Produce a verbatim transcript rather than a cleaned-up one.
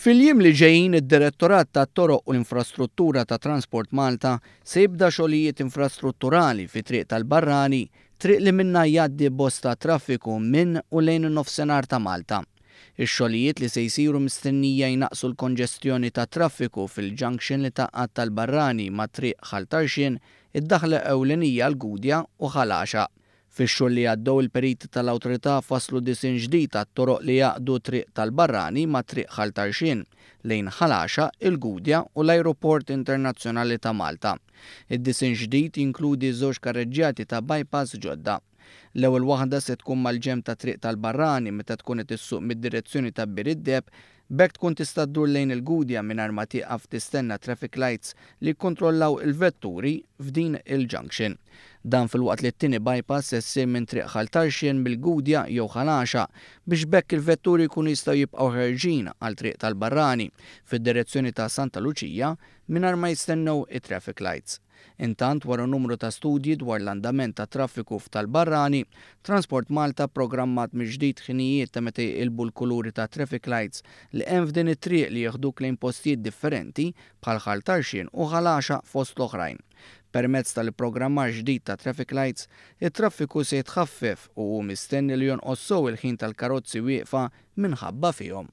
Fil-jiem li ġejjin, id-Direttorat tat-Toroq u l-Infrastruttura ta' Transport Malta se jibda xogħlijiet infrastrutturali fi Triq tal-Barrani, triq li minnha jgħaddi bosta traffiku minn u lejn in-nofsinhar ta' Malta. Ix-xogħlijiet li se jsiru mistennija jnaqqsu l-konġestjoni tat-traffiku fil-junction li tgħaqqad tal-Barrani ma' Triq Ħal Tarxien, id-daħla ewlenija għall-Gudja u Ħal Għaxaq. Fix-xhur li għaddew, il-periti tal-awtorità fasslu disinn ġdid għat-toroq li jgħaqqdu Triq tal-Barrani ma' Triq Ħal Tarxien lejn Ħal Għaxaq, il-Gudja u l-Ajruport Internazzjonali ta' Malta. Id-disinn ġdid jinkludi żewġ karreġġjati ta' bypass ġodda. L-ewwel waħda se tkun mal-ġenb ta' Triq tal-Barrani meta tkun qed issuq mid-direzzjoni ta' Bir id-Deheb, b'hekk tkun tista' ddur lejn il-Gudja mingħajr ma tieqaf tistenna traffic lights li jikkontrollaw il-vetturi f'din il-junction. Dan filwaqt li t-tieni bypass se ssir minn Triq Ħal Tarxien mill-Gudja jew Ħal Għaxaq biex b'hekk il-vetturi jkunu jistgħu jibqgħu ħerġin għal Triq tal-Barrani fid-direzzjoni ta' Santa Luċija mingħajr ma jistennew it-traffic lights. Intant, wara numru ta' studji dwar l-andament ta' traffiku f'tal-Barrani, Transport Malta programmat mill-ġdid ħinijiet ta' meta jqilbu l-kuluri ta' traffic lights li hemm f'din it-triq li jeħduk lejn postijiet differenti bħal Ħal Tarxien u Ħal Għaxaq, fost l-oħrajn. Permezz tal-programmar ġdid ta' traffic lights, it-traffiku se jitħaffef u hu mistenni li jonqos sew il-ħin tal-karozzi wieqfa minħabba fihom.